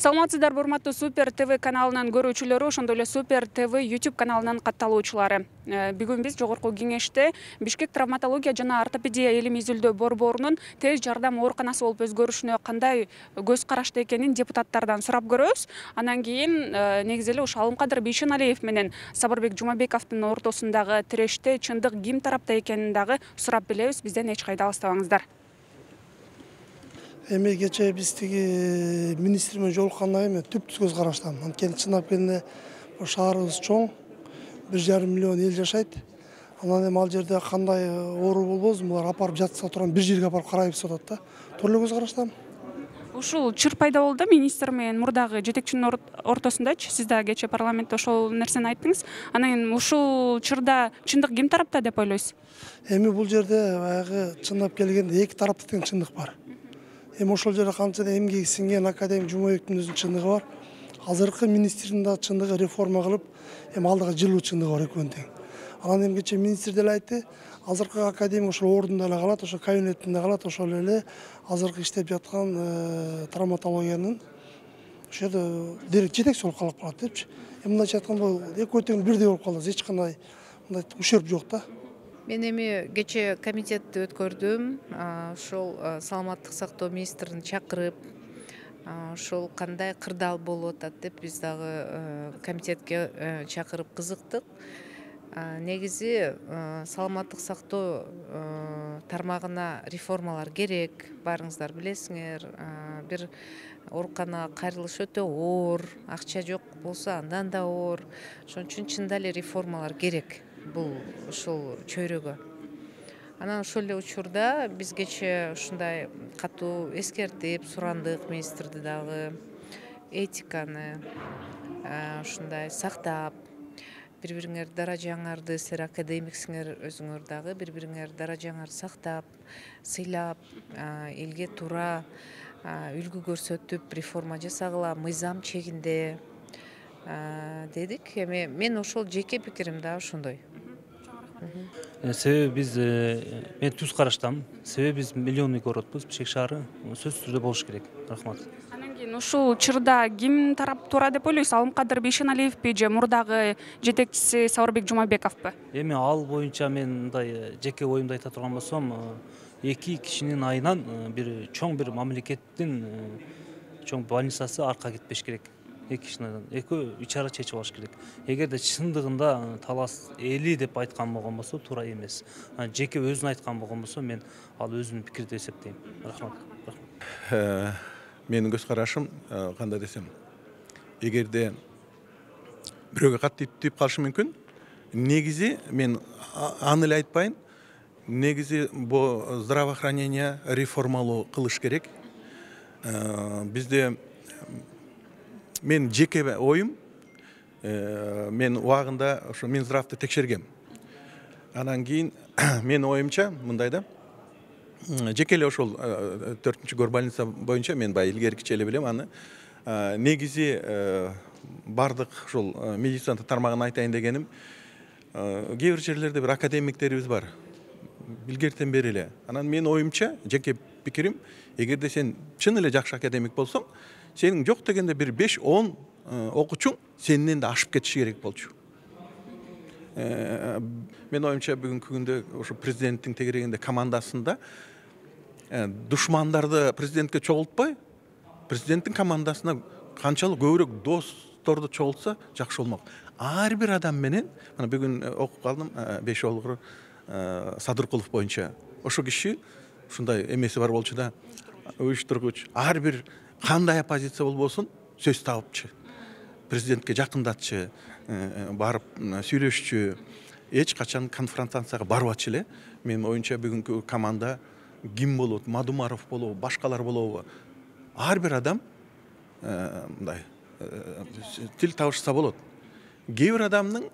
Саламатсыздарбы, урматтуу Супер ТВ каналынын көрүүчүлөрү, ошондой эле Супер ТВ YouTube каналынын катталуучулары. Бүгүн биз жогорку кеңеште Бишкек травматология жана ортопедия элим изилдөө борборунун тез жардам ооруканасы болуп өзгөрүшүнө кандай көз карашта экенин депутаттардан сурап көрөбүз. Анан кийин негизи эле ошо Алымкадыр Бейшеналиев менен Сабырбек Жумабековдун ортосундагы тиреште чындык ким тарапта экенин дагы сурап билебиз. Бизден эч кайда алыстабаңыздар. Эми кечээ биз тиги министр менен жолуккандан кийин түптүз көз караштам. Анткени чындап келгенде шаарыбыз чоң, 1,5 миллион эл жашайт. Анан эми ал жерде кандай оору болбосун, булар апарып жатса турган бир жерге апарып карайбыз деп атат да. Туура эле көз караштам. Ушул чыр пайда болду министр менен мурдагы жетекчинин ортосундачы. Сиз да кечээ парламентте ошол нерсени айттыңыз. Анан кийин ушул чырда чындык ким тарапта деп ойлойсуз? Эми бул жерде баягы чындап келгенде эки тарапта тең чындык бар. Эми ошол жерде канча да эмгеги сиңген академик Жумабековдун өзүнүн чындыгы бар. Азыркы министрдин да чындыгы реформа кылып, эми алдыга жылуу чындыгы бар экөөнүн тең. Анан эми кечээ министр деле айтты, азыркы академик ошол ордунда эле калат, ошол кабинетинде калат, ошол эле азыркы иштеп жаткан травматологиянын ошо жерде жетекчи болуп калып калат депчи. Эми мындайча айтканда экөө тең бирдей болуп калат, эч кандай мындай ущерб жок да. Мен эми кечээ комитетти өткөрдүм. Ошол саламаттык сактоо министрин чакырып, ошол кандай кырдаал болуп атат деп биз дагы комитетке чакырып кызыктык. Негизи саламаттык сактоо тармагына реформалар керек. Баарыңыздар билесиңер, бир ооруканага кайрылыш өтө оор, акча жок болсо андан да оор. Ошон үчүн чында эле реформалар керек бул ушул чөйрөгө. Анан ошол эле учурда биз кечээ ушундай катуу эскертип сурандык министрди дагы, этиканы ушундай сактап, бири-бириңер даражаңарды, силер академиксиңер, өзүңөр дагы бири-бириңер даражаңарды сактап, сыйлап, элге туура үлгү көрсөтүп реформа жасагыла мыйзам чегинде дедик. Эми мен ошол жеке пикирим да ошондой. Себеби биз мен түз караштам. Себеби биз миллионный городбуз, Бишкек шаары сөзсүз түрдө болуш керек. Рахмат. Анан кийин ушул чырда ким тарап туура деп ойлойсуз? Алымкадыр Бейшеналиевпи же мурдагы жетекчиси Сабырбек Жумабековпу? Эми ал боюнча мен мындай жеке оюмду айта турган болсом, эки кишинин айынан бир чоң бир мамлекеттин чоң больницасы арка кетпеш керек. Эки кишинин экөө ичара чечип алыш керек. Эгерде чындыгында талас эли деп айткан болгон болсо туура эмес. Жеке өзүн айткан болгон болсо мен ал өзүнүн пикири деп эсептейм. Рахмат. Менин көз карашым кандай десем, эгерде бирөөгө катты тийип калышы мүмкүн. Негизи мен аны эле айтпайын. Негизи бул здравоохранение реформалоо кылыш керек. Бизде мен жеке оюм, мен убагында ошо Минздравды текшергем. Анан кийин менин оюмча мындай да, жеке эле ошол 4-чү горбольница боюнча мен баягы илгеркиче эле билем аны. Негизи бардык ошол медицина тармагын айтайын дегеним, кээ бир жерлерде бир академиктерибиз бар. Билгертен бери эле. Анан менин оюмча, жеке пикирим, эгерде сен чын эле жакшы академик болсоң, сенин жок дегенде бир 5-10 окуучуң сенден да ашып кетиши керек болчу. Мен оюмча бүгүнкү күндө ошо президенттин тегерегинде командасында душмандарды президентке чогултпай, президенттин командасына канчалык көбүрөөк досторду чогултса жакшы болмок. Ар бир адам менен, мына бүгүн окуп калдым, Бейшеолгур Садыркулов боюнча. Ошо киши ушундай эмеси бар болчу да, уюштургуч. Ар бир кандай оппозиция болбосун сөз табыпчы. Президентке жакындатчы, барып сүйлөшчү, эч качан конфронтацияга барбачы эле. Менин оюмча бүгүнкү команда ким болот? Мадумаров болобу, башкалар болобу? Ар бир адам мындай тил табышса болот. Кээ бир адамдын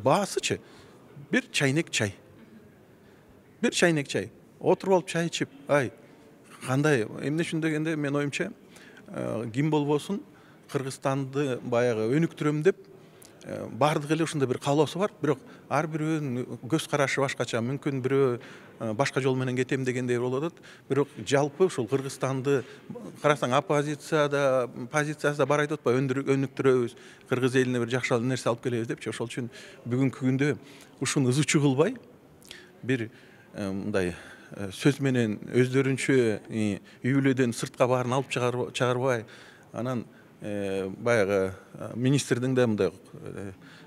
баасычы бир чайнек чай. Бир чайнек чай. Отуруп алып чай ичип, ай, кандай эмне үчүн дегенде мен оюмча ким болбосун Кыргызстанды баягы өнүктүрөм деп баардык эле ушундай бир каалоосу бар, бирок ар бирөөнүн көз карашы башкача. Мүмкүн бирөө башка жол менен кетем дегендей болуп атат. Бирок жалпы ушул Кыргызстанды карасаң оппозицияда, позициясы да бар айтып атпайбы, өнүктүрөбүз, кыргыз элине бир жакшы нерсе алып келебиз депчи. Ошол үчүн бүгүнкү күндө ушуну ызычуу кылбай, бир мындай сөз менен өздөрүнчө үй бүлөдөн сыртка баарын алып чыгарбай, анан баягы министрдин да мындай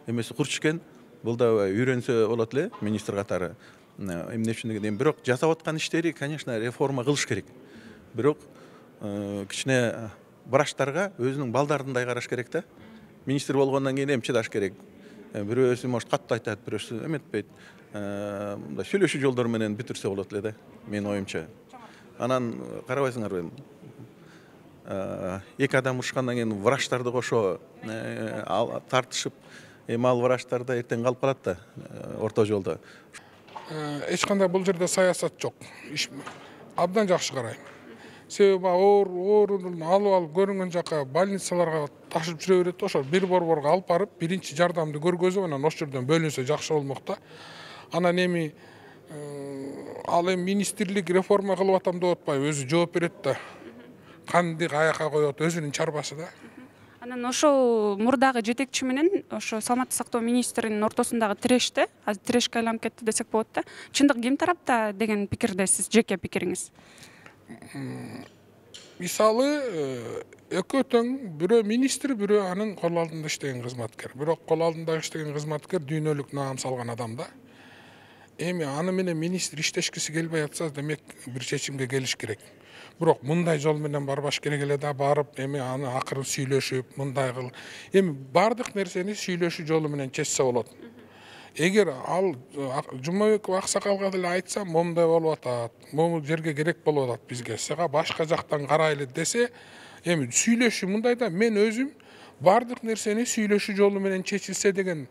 эмеси курч экен. Бул да үйрөнсө болот эле министр катары. Эмне үчүн дегенде, бирок жасап аткан иштери, конечно, реформа кылыш керек. Бирок кичине врачтарга өзүнүн балдарындай караш керек да. Министр болгондон кийин чыдаш керек. Бирөөсү может катты айтат, бирөөсү эметпейт. Мындай сүйлөшүү жолдору менен бүтүрсө болот эле да, менин оюмча. Анан карабайсыңарбы, эки адам урушкандан кийин врачтарды кошо тартышып, ал врачтар да эртең калып калат да орто жолдо. Эч кандай бул жерде саясат жок. Абдан жакшы карайм. Себеби оорунун алып көрүнгөн жака больницаларга ташып жүрө берет. Ошо бир борборго алып барып, биринчи жардамды көргөзүп, анан ошол жерден бөлүнсө жакшы болмок да. Анан эми ал эми министрлик реформа кылып атам деп атпайбы, өзү жооп берет да. Канды каяка коет, өзүнүн чарбасы да. Анан ошол мурдагы жетекчи менен ошо саламаттык сактоо министринин ортосундагы тиреште, азыр тирешке айланып кетти десек болот да. Чындык ким тарапта деген пикирдесиз, жеке пикириңиз? Мисалы, экөө тең, бирөө министр, бирөө анын кол алдында иштеген кызматкер. Бирок кол алдында иштеген кызматкер дүйнөлүк наам салган адам да. Эми аны менен министр иштешкиси келбей атса, демек бир чечимге келиш керек. Бирок мындай жол менен барбаш керек эле да, барып эми аны акырын сүйлөшүп, мындай кыл. Эми бардык нерсени сүйлөшүү жолу менен чечсе болот. Эгер ал Жумабеков аксакалга деле айтса, момундай болуп атат, могу жерге керек болуп атат бизге, сага башка жактан карайлы десе, эми сүйлөшүү мындай да, мен өзүм бардык нерсени сүйлөшүү жолу менен чечилсе деген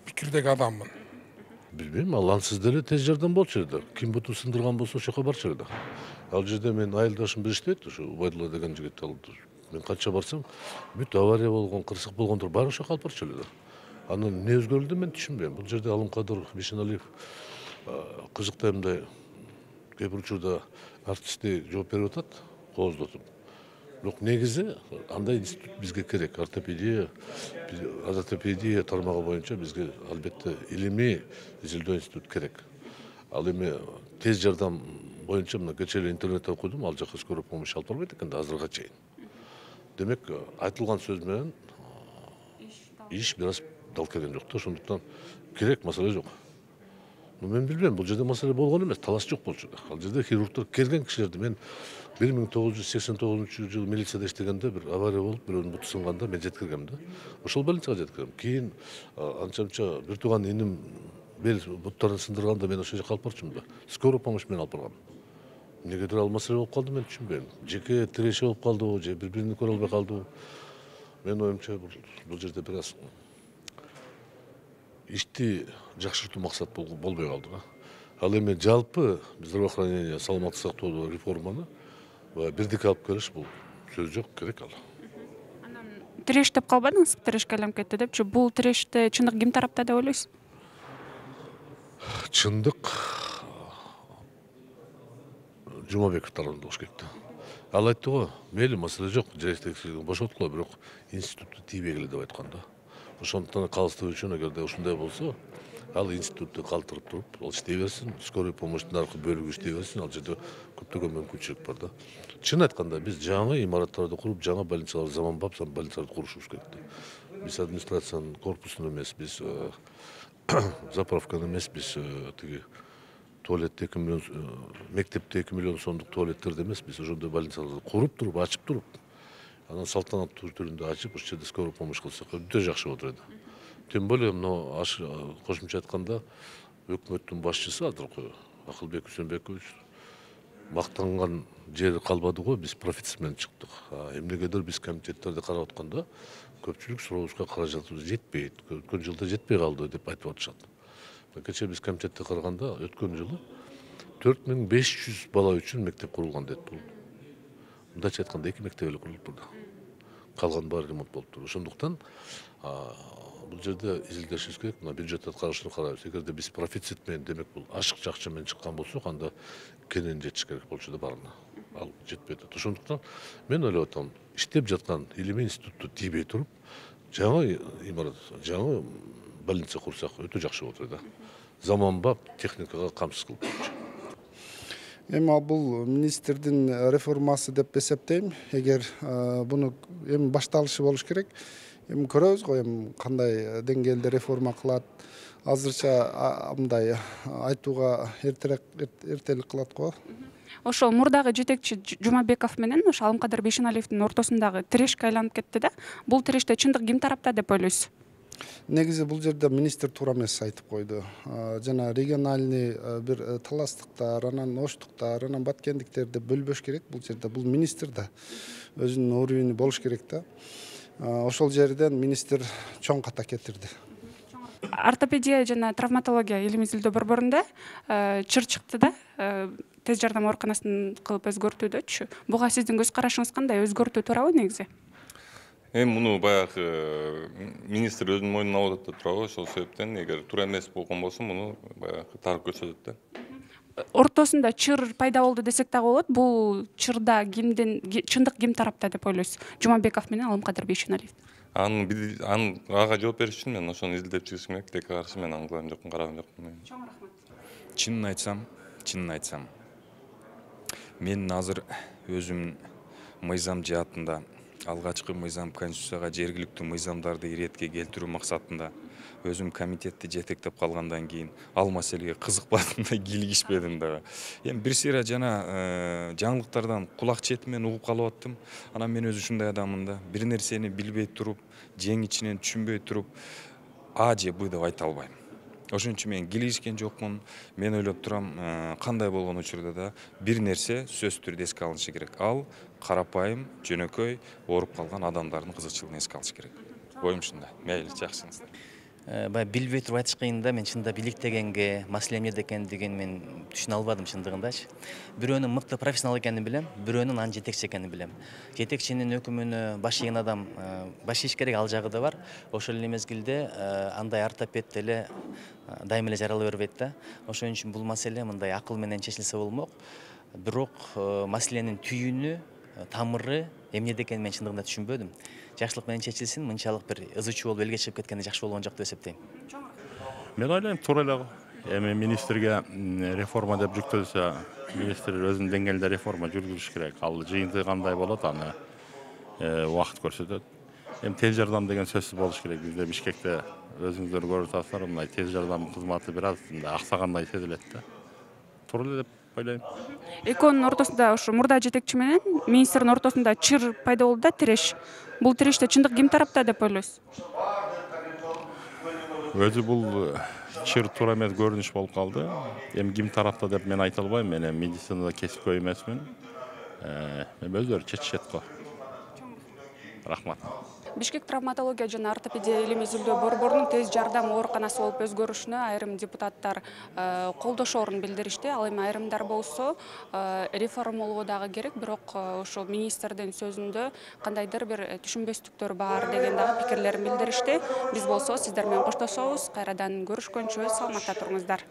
пикирдеги адаммын. Билбейм, ал ансыз деле тез жардам болчу эле да. Ким бутун сындырган болсо ошол жака барчу эле да. Ал жерде мен айылдашым бир иштейт, ошо Убайдулла деген жигит. Мен канча барсам, бүт авария болгон, кырсык болгондор баары ошо алып барчу эле да. Анын эмне өзгөрүлдү мен түшүнбөйм. Бул жерде Алымкадыр Бишеналиев кызыктай мындай кээ бир учурда артистти жооп берип атат, кооздотуп. Бирок негизи андай институт бизге керек. Ортопедия тармагы боюнча бизге албетте илимий изилдөө институт керек. Ал эми тез жардам боюнча мына кечээ эле интернетте окудум, ал жака скорый помощь алып барбайт экен да азырга чейин. Демек айтылган сөз менен иш бир аз дал келген жок да, ошондуктан керек, маселе жок. Мен билбейм, бул жерде маселе болгон эмес, талаш жок болчу да. Ал жерде хирургтор келген кишилерди мен 1989 милицияда иштегенде бир авария болуп, бирөөнүн буту сынганда мен жеткиргем да. Ошол больницага жеткиргем. Кийин анча-мынча бир тууган иним бел буттарын сындырганда мен ошол жака алып барчумун да. Скорый помощь менен алып баргам. Эмнегедир ал маселе болуп калды, мен түшүнбөйм. Жеке тиреши болуп калдыбы, же бири-бирин көрө албай калдыбы. Менин оюмча бул жерде бир аз ишти жакшыртуу максат болбой калды да. Ал эми жалпы здравоохранение, саламаттык сактоодо реформаны бирдикке алып келиш, бул сөз жок, керек ал. Анан тиреш деп калбадыңызбы, тирешке айланып кетти депчи? Бул тиреште чындык ким тарапта деп ойлойсуз? Чындык Жумабеков тарабында болуш керек да. Ал айтты го, мейли, маселе жок, жетекчилигин бошоткула, бирок институтту тийбегиле деп айткан да. Ошондуктан калыстыгы үчүн эгерде ушундай болсо, ал институтту калтырып туруп, ал иштей берсин, скорый помощьтун аркы бөлүгү иштей берсин, ал жерде көптөгөн мүмкүнчүлүк бар да. Чын айтканда биз жаңы имараттарды куруп, жаңы больницалар, заманбап больницаларды курушубуз керек да. Биз администрациянын корпусун эмес, биз заправканы эмес, биз тиги туалетте 2 миллион, мектепте 2 миллион сомдук туалеттерди эмес, биз ошондой больницаларды куруп туруп, ачып туруп, анан салтанаттуу түрүндө ачып, ошол жерде скорый помощь кылсак өтө жакшы болот эле. Тем более мына кошумча айтканда өкмөттүн башчысы азыркы Акылбек Үсөнбекович мактанган жери калбады го, биз профицит менен чыктык. Эмнегедир биз комитеттерди карап атканда көпчүлүк сурообузга каражатыбыз жетпейт, өткөн жылда жетпей калды деп айтып атышат. Кечээ биз комитетте караганда өткөн жылы 4500 бала үчүн мектеп курулган дейт. Бул мындайча айтканда 2 мектеп эле курулуп турду. калган баары ремонт болуптур. Ошондуктан бул жерде изилдешибиз керек. Мына бюджет аткарышын карайбыз. Эгерде биз профицит менен, демек бул ашыкча акча менен чыккан болсок, анда кенен жетиш керек болчу да баарына. Ал жетпей атат. Ошондуктан мен ойлоп атам, иштеп жаткан илимий институтту тийбей туруп, жаңы имарат, жаңы больница курсак өтө жакшы болот да. Заманбап техникага камсыз кылып. Эми бул министрдин реформасы деп эсептейм. Эгер буну эми башталышы болуш керек. Эми көрөбүз го, эми кандай деңгээлде реформа кылат. Азырча мындай айтууга эртелик кылат го. Ошол мурдагы жетекчи Жумабеков менен ошо Алымкадыр Бейшеналиевдин ортосундагы тирешке айланып кетти да. Бул тиреште чындык ким тарапта деп ойлойсуз? Негизи бул жерде министр туура эмес айтып койду. Жана региональный бир таластыктар, анан оштуктар, анан баткендиктерди бөлбөш керек. Бул жерде бул министр да өзүнүн уровени болуш керек да. Ошол жерден министр чоң ката кетирди. Ортопедия жана травматология элибизде борборунда чыр чыкты да. Тез жардам ооруканасын кылып өзгөртүүдөчү. Буга сиздин көз карашыңыз кандай? Өзгөртүү туурабы негизи? Эми муну баягы министр өзүнүн мойнуна алып атат да турабы. Ошол себептен эгер туура эмес болгон болсо муну баягы тарып көрсөтөт да. Ортосунда чыр пайда болду десек дагы болот. Бул чырда чындык ким тарапта деп ойлойсуз? Жумабеков менен Алымкадыр Бейшеналиев. Ага жооп бериш үчүн мен ошону изилдеп чыгышым керек. Текке каршы мен аңгылган жокмун, караган жокмун. Чоң рахмат. Чынын айтсам, мен азыр өзүм мыйзам жаатында алгачкы мыйзам конституцияга жергиликтүү мыйзамдарды иретке келтирүү максатында өзүм комитетти жетектеп калгандан кийин ал маселеге кызыкпадым да, кийлигишпедим дагы. Эми бир сыйра жана жаңылыктардан кулак четимен угуп калып аттым. Анан мен өзү ушундай адаммын да, бир нерсени билбей туруп, жең ичинен түшүнбөй туруп А же Б деп айта албайм. Ошон үчүн мен кийлигишкен жокмун. Мен ойлоп турам, кандай болгон учурда да бир нерсе сөзсүз түрдө эске алынышы керек. Ал карапайым, жөнөкөй ооруп калган адамдардын кызыкчылыгын эске алыш керек. Оюм ушундай. Мейли, жакшысыңыз. Баягы билбей туруп айтыш кыйын да, мен чынында бийликтегенге, маселе эмнеде экендигин мен түшүнө албадым чындыгындачы. Бирөөнүн мыкты профессионал экенин билем, бирөөнүн анын жетекчи экенин билем. Жетекчинин өкүмүнө баш ийген адам баш ийиш керек, ал жагы да бар. Ошол эле мезгилде андай ортопед деле дайыма эле жарала бербейт да. Ошон үчүн бул маселе мындай акыл менен чечилсе болмок. Бирок маселенин түйүнү, тамыры эмнеде экенин мен чындыгында түшүнбөдүм. Жакшылык менен чечилсин, мынчалык бир ызычуу болуп элге чыгып кеткенде жакшы болгон жок деп эсептейм. Мен ойлойм, туура эле. Эми министрге реформа деп жүктөлсө, министр өзүнүн деңгээлинде реформа жүргүзүш керек. Ал жыйынтыгы кандай болот, аны убакыт көрсөтөт. Эми тез жардам деген сөзсүз болуш керек. Бизде Бишкекте өзүңүздөр көрүп атасыздар, мындай тез жардам кызматы бир аз аксагандай сезилет да. Туура эле деп ойлойм. Экөөнүн ортосунда, ошо мурда жетекчи менен министрдин ортосунда чыр пайда болду да, тиреш. Бул тиреште чындык ким тарапта деп ойлойсуз? Өзү бул чыр туура эмес көрүнүш болуп калды. Эми ким тарапта деп мен айта албайм. Мен медицинада кесипкөй эмесмин. Эми өздөрү чечишет го. Рахмат. Бишкек травматология жана ортопедия илимий изилдөө борборунун тез жардам ооруканасы болуп өзгөрүшүнө айрым депутаттар колдошоорун билдиришти. Ал эми айрымдар болсо реформалоо дагы керек, бирок ошо министрдин сөзүндө кандайдыр бир түшүнбөстүктөр бар деген дагы пикирлерин билдиришти. Биз болсо сиздер менен коштошобуз. Кайрадан көрүшкөнчө саламатта туруңуздар.